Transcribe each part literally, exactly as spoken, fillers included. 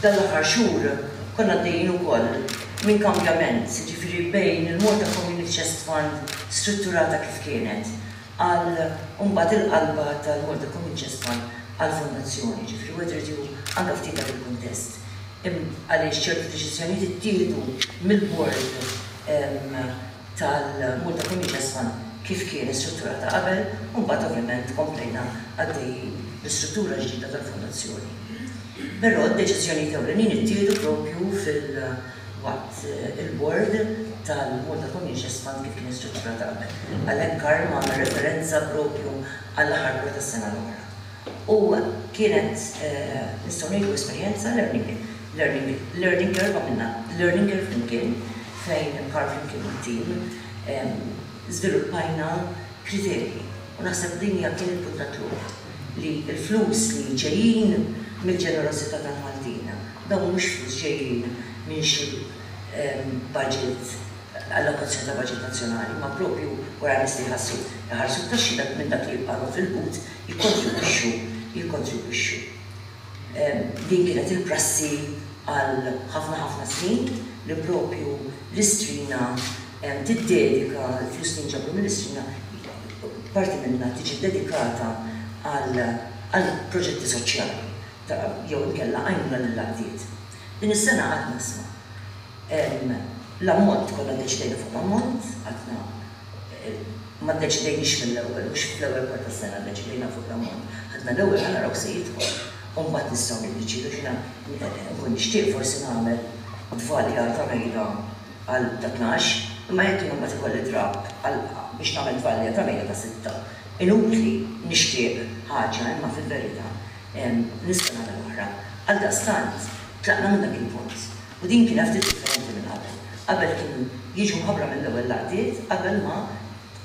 Dan l-aħħar xhur konna għaddejjin ukoll minn kambjament, ġifieri bejn il-Malta Community Chest Fund strutturata kif kienet għal mbagħad il-qalba tal-Malta Community Chest Fund għal fondazzjoni, ġifieri wieħed irid jieħu anke ftit dak il-kuntest. Għaliex ċertu deċiżjonijiet ittieħdu mill-board tal-Malta Community Chest Fund kif kien strutturata qabel, u mbagħad ovvjament komplejna għaddejjin l-istruttura ġdida tal-fondazzjoni. Però d-deċiżjonijiet ewlenin ittieħdu propju fil-waqt il-board tal-Malta Community Chest Fund kif kien strutturata qabel. Għalhekk Karl għamel referenza propju għall-aħħar bord tas-sena l-oħra. U kienet, nistgħu ngħidu, esperjenza learning, learning, learning curve. Għamilna learning curve flimkien, fejn Karl flimkien mat-team żviluppajna kriterji. U naħseb din hija kien il-punt ta' tluq li l-flus li ġejjin mill-ġenerosità tal-Maltin, dawn mhux flus ġejjin minn xi budget, allokazzjoni ta' budget nazzjonali, ma propju wara nies li jħassu jħarsu t-taxxi, dak minn dak li jibqgħu fil-but jikkontribwixxu jikkontribwixxu. Din kienet il-prassi għal ħafna ħafna snin li propju l-Istrina tiddedika l-flus li nġabru mill-Istrina, parti minna tiġi dedikata għal għal proġetti soċjali jew inkella għajnuna lill-għaqdiet. Din is-sena għadna, isma', l-ammont, konna ddeċidejna fuq l-ammont, għadna ma ddeċidejniex mill-ewwel, mhux fl-ewwel kwart tas-sena ddeċidejna fuq l-ammont. Għadna l-ewwel ħa naraw se jidħol. U mbagħad nistgħu niddeċidu. X'jiena nkun nixtieq forsi nagħmel tvalja ta' mejda għal ta' tnax, imma jekk jien mbagħad ikolli drapp għal biex nagħmel tvalja ta' mejda ta' sitta. Inutli nixtieq ħaġa imma fil-verità nista' nagħmel oħra. Għaldaqstant tlaqna minn dak il-punt. U din kienet ftit differenti minn qabel. Qabel kienu jiġu mħabbra mill-ewwel l-għaqdiet qabel ma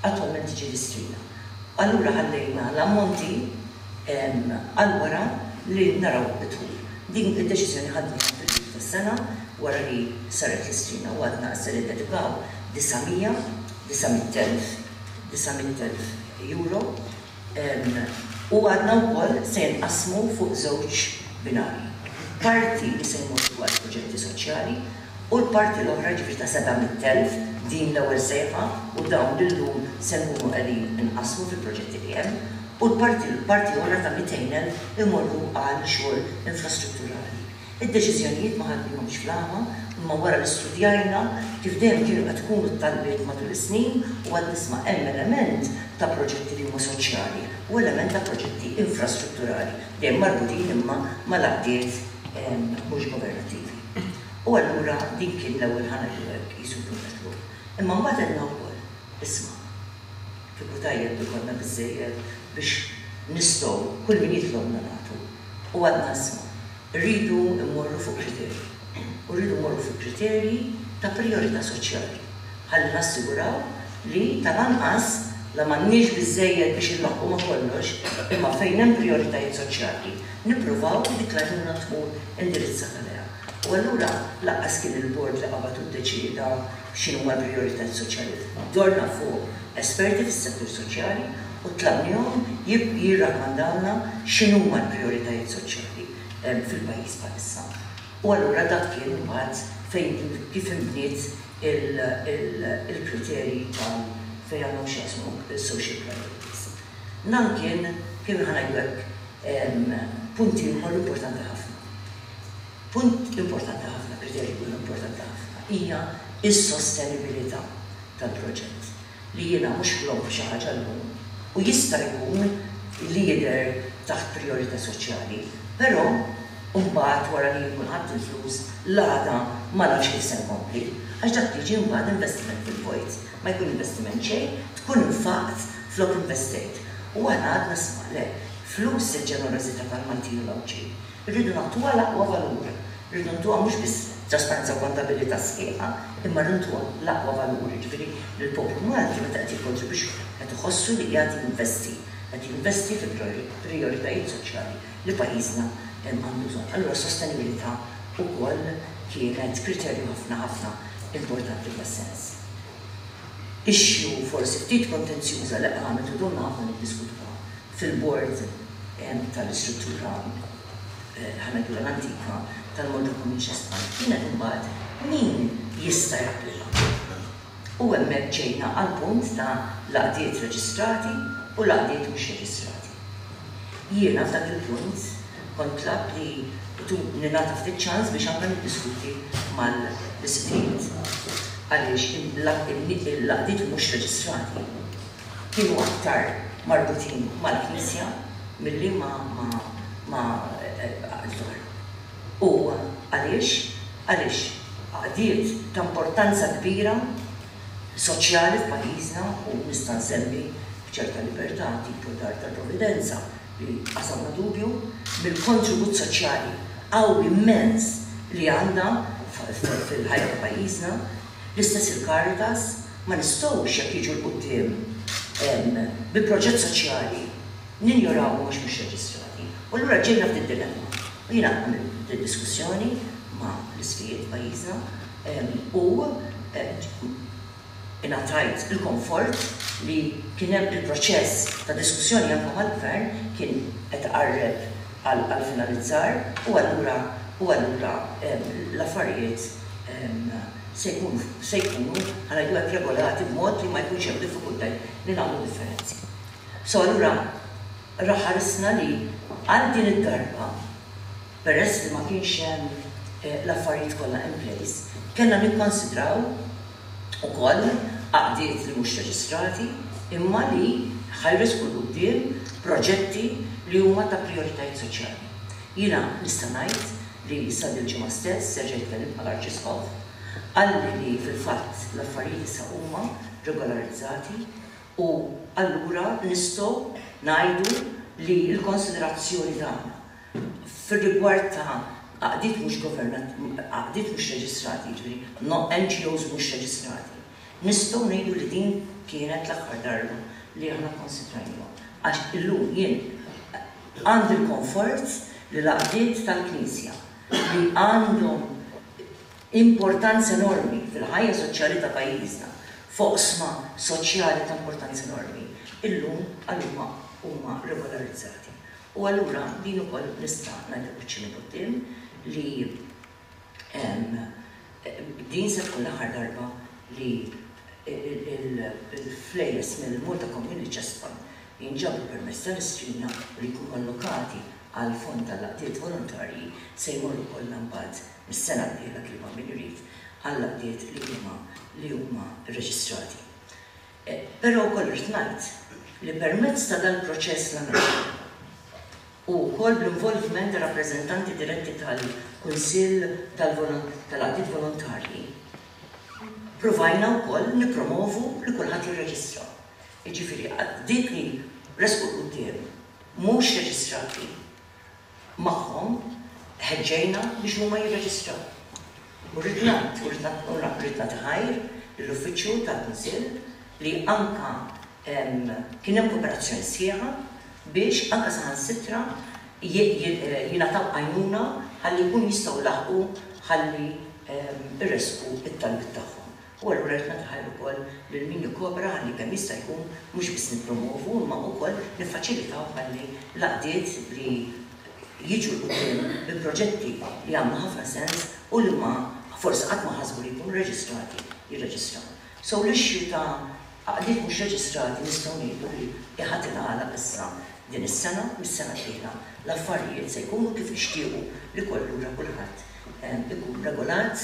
attwalment tiġi l-Istrina. Allura ħallejna l-ammonti għal wara li naraw id-dħul. Din id-deċiżjoni ħadniha fil-bidu tas-sena wara li saret l-Istrina u għadna se niddedikaw disa' mija, disa' mitt elf, disa' mitt elf euro u għadna wkoll se jinqasmu fuq żewġ binari. Parti li se jmorru għal proġetti soċjali u l-parti l-oħra, ġifieri ta' seba' mitt elf, din l-ewwel sejħa u dawn lillum se nkunu qegħdin inqasmu fil-proġetti li hemm, u l-parti l-parti oħra ta' mitejn elf imorru għal xogħol infrastrutturali. Id-deċiżjonijiet ma ħadnihomx fl-għama, imma wara li studjajna kif dejjem kienu qed tkunu t-talbiet matul is-snin u għad nisma' hemm element ta' proġetti li huma soċjali u element ta' proġetti infrastrutturali dejjem marbutin imma mal-għaqdiet mhux governattivi. U allura din kien l-ewwel, ħa ngħidu hekk, qisu punt ta' tluq. Imma mbagħad għedna wkoll, isma', kieku tajjeb li konna biżejjed biex nistgħu kull min jitlobna nagħtu. U għadna, isma', rridu mmorru fuq kriterji. U rridu mmorru fuq kriterji ta' priorità soċjali. Ħalli nassiguraw li tal-anqas la m'għandniex biżejjed biex inlaħħqu ma' kollox, imma fejn hemm prioritajiet soċjali, nippruvaw dik l-għajnuna tmur indirizzata lejha. U allura lanqas kien il-bord li qabad u ddeċieda x'inhuma l-prijoritajiet soċjali. Dorna fuq esperti fis-settur soċjali u tlabnihom jirrakkomandawna x'inhuma l-prijoritajiet soċjali fil-pajjiż bħalissa. U allura dak kien mbagħad fejn kif inbniet il-kriterji tal fejn għandhom x'jaqsmu social priorities. Dan kien kien ħa ngħidu hekk punti ieħor importanti ħafna. Punt importanti ħafna, kriterju importanti ħafna, hija is-sostenibilità tal-proġett. Li jiena mhux ħlomt xi ħaġa llum u jista' jkun li jidher taħt priorità soċjali, però mbagħad wara li jkun ħadd il-flus l-għada ma nafx kif se nkompli. Għax dak tiġi mbagħad investiment fil-vojt. Ma jkun investiment xejn, tkun infaqt flok investejt. U aħna għadna, isma', le, flus il-ġenerożità tal-Maltin u l-Għawdxin. Irridu nagħtuha l-aqwa valur. Irridu ntuha mhux biss trasparenza u kontabilità sħiħa, imma rridu l-aqwa valur. Ġifieri l-poplu Malti meta qed jikkontribwixxu qed iħossu li qiegħed jinvesti, qed jinvesti fi prioritajiet soċjali li pajjiżna għandu bżonn. Allura sostenibilità wkoll kienet kriterju ħafna ħafna importanti f'das-sens. Issue forsi ftit kontenzjuża li qamet u domna ħafna niddiskutuha fil-board tal-istruttura, ħa ngħidu, l-antika tal-Malta Community Chest Fund kienet imbagħad min jista' japplika. U hemmhekk ġejna għal punt ta' l-għaqdiet reġistrati u l-għaqdiet mhux reġistrati. Jiena f'dak il-punt kont tlabt li ningħata ftit ċans biex anke niddiskuti mal-isqfijiet. Għaliex l-għaqdiet mhux reġistrati kienu aktar marbutin mal-Knisja milli ma' ma' għaqdiet oħra. U għaliex? Għaliex għaqdiet ta' importanza kbira soċjali f'pajjiżna, u nista' nsemmi b'ċerta libertà tipo Dar tal-Providenza li qasamna dubju mill-kontribut soċjali qawwi immens li għandha fil-ħajja ta' pajjiżna. L-istess il-Caritas, ma nistgħux jekk jiġu 'l quddiem bi proġett soċjali ninjorawhom għax mhux reġistrati. U allura ġejna f'din dilemma. U jiena għamilt diskussjoni ma' l-isqfijiet pajjiżna u ingħatajt il-komfort li kien hemm il-proċess ta' diskussjoni anke mal-gvern kien qed iqarreb għal finalizzar, u allura u allura l-affarijiet se jkunu se jkunu ħa ngħidu hekk regolati b'mod li ma jkunx hemm diffikultajiet li nagħmlu differenzi. So allura ħarisna li għal din id-darba, peress li ma kienx hemm l-affarijiet kollha in place, kellna nikkonsidraw ukoll għaqdiet li mhux reġistrati imma li ħa jressqu 'l quddiem proġetti li huma ta' prijoritajiet soċjali. Jiena nista' ngħid li issa dil-ġimgħa stess erġajt tkellimt mal-Arċisqof, qalli li fil-fatt l-affarijiet issa huma regolarizzati u allura nistgħu ngħidu li l-konsiderazzjoni tagħna fir-rigward ta' għaqdiet mhux governat, għaqdiet mhux reġistrati, jiġifieri no N G Os mhux reġistrati, nistgħu ngħidu li din kienet l-aħħar darba li aħna konsidrajna. Għax illum jien għandi l-komfort li l-għaqdiet tal-Knisja li għandhom importanza enormi fil-ħajja soċjali ta' pajjiżna, f'oqsma soċjali ta' importanza enormi, illum għalhuma huma regolarizzati. U allura din ukoll nista' ngħidlek biċċini quddiem li din se tkun l-aħħar darba li il-flejjes mill-Malta Community Chest Fund jinġabru permezz tal-Istrina u li jkunu allokati għal fond tal-għaqdiet volontarji se jmorru kollha mbagħad mis-sena d-dieħla, kif min irid, għall-għaqdiet li huma li huma rreġistrati. Però wkoll irrid ngħid li permezz ta' dal-proċess l u wkoll bl-involvement ta' rappreżentanti diretti tal-Kunsill tal-Għaqdiet Volontarji, provajna wkoll nipromovu li kulħadd jirreġistra. Jiġifieri dik li resqu quddiem mhux reġistrati magħhom ħeġġejna biex huma jirreġistraw. U rrid ngħid, u rrid nagħti ħajr lill-uffiċċju tal-Kunsill li anka kien hemm kooperazzjoni sħiħa biex anka saħansitra jingħataw għajnuna ħalli jkun jistgħu laħqu ħalli irresqu it-talbiet tagħhom. U allura rrid nagħti ħajr ukoll lil min jikkopera ħalli kemm jista' jkun mhux biss nippromovu imma wkoll niffaċilitaw ħalli l-għaqdiet li jiġu 'l quddiem bi proġetti li għamlu ħafna sens u li ma forsi qatt ma ħasbu li jkunu reġistrati jirreġistraw. So l-issue ta' għaqdiet mhux reġistrati nistgħu ngħidu li ħa tingħalaq issa din is-sena, mis-sena d-dieħla l-affarijiet se jkunu kif nixtiequ li kollura kulħadd ikun regolat,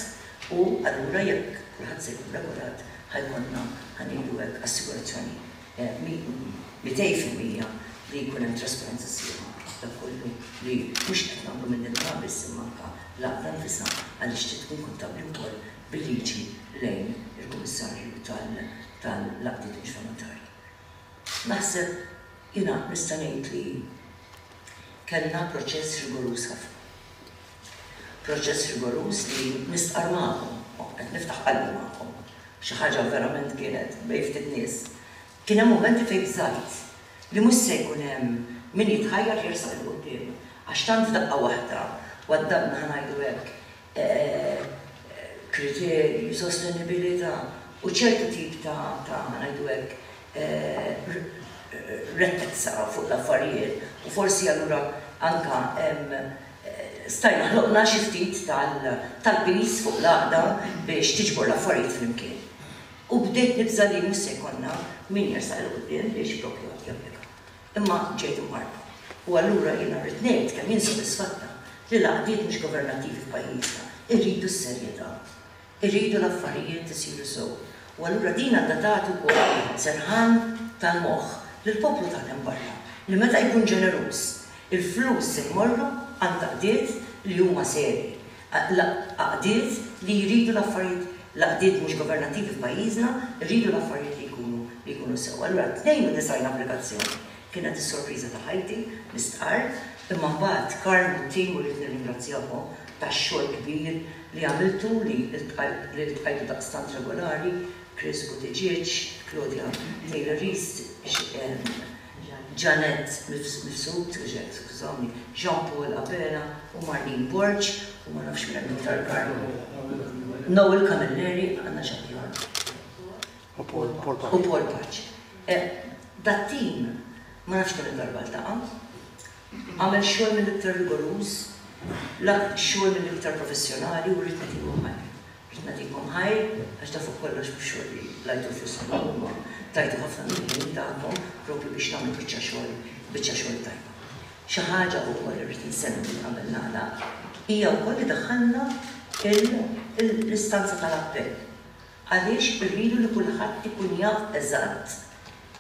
u allura jekk kulħadd se jkun regolat ħa jkollna, ħa ngħidu hekk, assigurazzjoni mitejn fil-mija li jkun hemm trasparenza sħiħa dak kollu li mhux qed nagħmlu minn din biss imma anke l-għaqda nfisha, għaliex trid tkun kontabbli wkoll bil-liġi lejn il-Kummissarju tal-Għaqdiet Mhux Volontarji. Naħseb jiena nista' ngħid li kellna proċess rigoruż ħafna. Proċess rigoruż li nistqar magħkom, qed niftaħ qalbi magħkom. Xi ħaġa verament kienet bejn ftit nies. Kien hemm mumenti fejn bżajt li mhux se jkun hemm min jitħajjar jersaq 'il quddiem għax tant f'daqqa waħda waddabna, ħa ngħidu hekk, kriterji, sostenibilità u ċertu tip ta' ħa ngħidu hekk rettezza fuq l-affarijiet, u forsi allura anka Stajna ħloqna xi ftit tal-piż fuq l-għaqda biex tiġbor l-affarijiet flimkien. U bdejt nibża' li mhux se jkollna min jersaq 'il quddiem biex propju għad japplika. Imma ġejt imwarrba. U allura jiena rrid ngħid kemm jien sodisfatta li l-għaqdiet mhux governattivi f'pajjiżna irridu s-serjetà. Irridu l-affarijiet isiru sew. U allura din għandha tagħti wkoll serħan tal-moħħ lill-poplu tagħna hemm barra li meta jkun ġeneruż, il-flus se jmorru għand għaqdiet li huma serji, għaqdiet li jridu l-affarijiet, l-għaqdiet mhux governattivi f'pajjiżna jridu l-affarijiet li jkunu li jkunu sew. Allura tnejn u disgħin applikazzjoni kienet is-sorpriża ta' ħajti, nistqarr, imma mbagħad Karl u t-tim, u rrid nirringrazzjakom tax-xogħol kbir li għamiltu, li ltqajtu daqstant regolari, Chris Buttigieg, Claudia Taylor Rees, Janet Mifsud, skużawni, Jean Paul Abela u Marlene Borg, u ma nafx minn hemm iktar, Karl. Noel Camilleri, għandna xi ħadd? U Paul U Paul Pace. Dat-tim ma nafx kemm darba ltaqa', għamel xogħol mill-iktar rigoruż, xogħol mill-iktar professjonali, u rrid nagħtikom ħajr. Rrid nagħtikom ħajr għax da fuq kollox mhux xogħol li qlajtu flus huma tajtu ħafna mill-ħin tagħkom propju biex nagħmlu biċċa xogħol, biċċa xogħol tajba. Xi ħaġa wkoll irrid insemmi li qabel nagħlaq hija wkoll li daħħalna l-istanza tal-appell. Għaliex irridu li kulħadd ikun jaf eżatt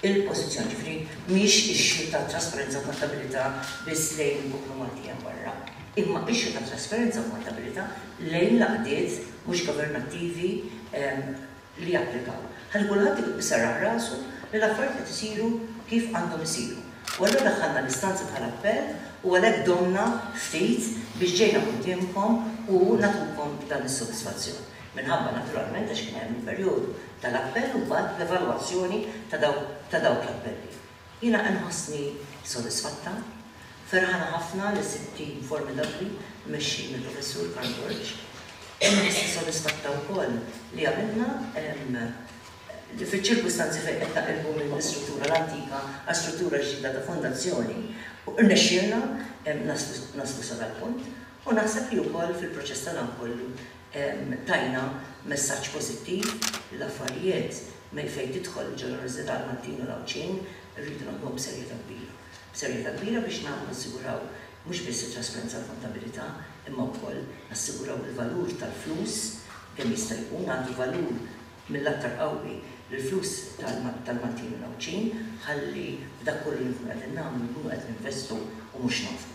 il-pożizzjoni, ġifieri mhix issue ta' trasparenza u kontabilità biss lejn il-poplu Malti hemm barra, imma issue ta' trasparenza u kontabilità lejn l-għaqdiet mhux governattivi li japplikaw. Ħalli kulħadd iserraħ rasu li l-affarijiet qed isiru kif għandhom isiru. U allura daħħalna l-istanza tal-appell u għalhekk domna ftit biex ġejna quddiemkom u nagħtukom dan is-sodisfazzjon. Minħabba naturalment għax kien hemm il-perjodu tal-appell u mbagħad l-evalwazzjoni ta' dawk l-appelli. Jiena nħossni sodisfatta, ferħana ħafna li sibt tim formidabbli mmexxi mill-Professur Karl Borg. Nħossni sodisfatta wkoll li għamilna li fiċ-ċirkustanzi fejn qed naqilbu mill-istruttura l-antika għal struttura ġdida ta' fondazzjoni, rnexxielna naslu sa dal-punt, u naħseb li wkoll fil-proċess ta' dan kollu tajna messaġġ pożittiv li l-affarijiet fejn tidħol il-ġenerożità l-Maltin u l-Għawdxin rridu nagħmluhom b'serjetà kbira. B'serjetà kbira biex nagħmlu nassiguraw mhux biss it-trasparenza u l-kontabilità, imma wkoll nassiguraw il-valur tal-flus kemm jista' jkun għandu valur mill-aktar qawwi l-flus tal-Maltin u l-Għawdxin, ħalli f'dak kollu li nkunu qegħdin nagħmlu nkunu qed ninvestu u mhux nonfqu.